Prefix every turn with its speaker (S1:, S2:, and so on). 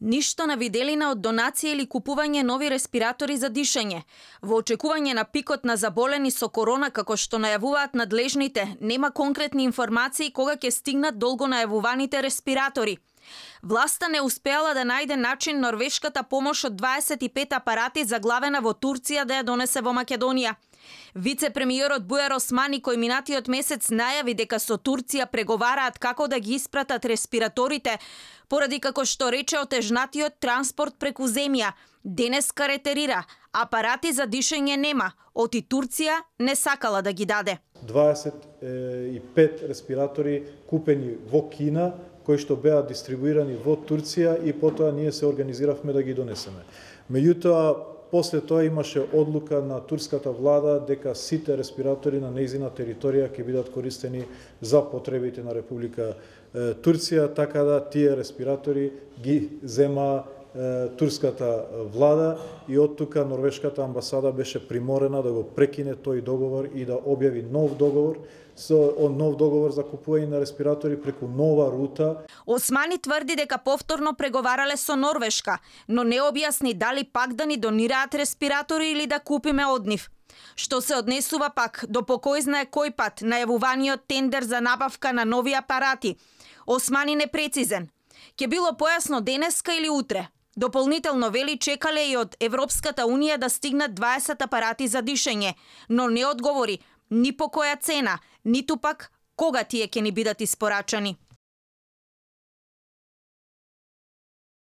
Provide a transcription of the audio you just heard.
S1: Ништо на виделина од донација или купување нови респиратори за дишење. Во очекување на пикот на заболени со корона, како што најавуваат надлежните, нема конкретни информации кога ќе стигнат долго најавуваните респиратори. Власта не успеала да најде начин норвешката помош од 25 апарати заглавена во Турција да ја донесе во Македонија. Вице-премиерот Бујар Османи, кој минатиот месец најави дека со Турција преговараат како да ги испратат респираторите, поради како што рече отежнатиот транспорт преку земја, денеска ретерира, апарати за дишење нема, оти Турција не сакала да ги даде.
S2: 25 респиратори купени во Кина, кои што беа дистрибуирани во Турција и потоа ние се организиравме да ги донесеме. Меѓутоа, после тоа имаше одлука на турската влада дека сите респиратори на нејзина територија ќе бидат користени за потребите на Република Турција, така да тие респиратори ги зема турската влада и од тука норвешката амбасада беше приморена да го прекине тој договор и да објави нов договор за купување на респиратори преку нова рута.
S1: Османи тврди дека повторно преговарале со Норвешка, но не објасни дали пак да ни донираат респиратори или да купиме од нив. Што се однесува пак до по кој знае кој пат најавуваниот тендер за набавка на нови апарати, Османи непрецизен. Ке било појасно денеска или утре. Дополнително вели чекале и од Европската Унија да стигнат 20 апарати за дишење, но не одговори ни по која цена, ниту пак кога тие ќе ни бидат испорачани.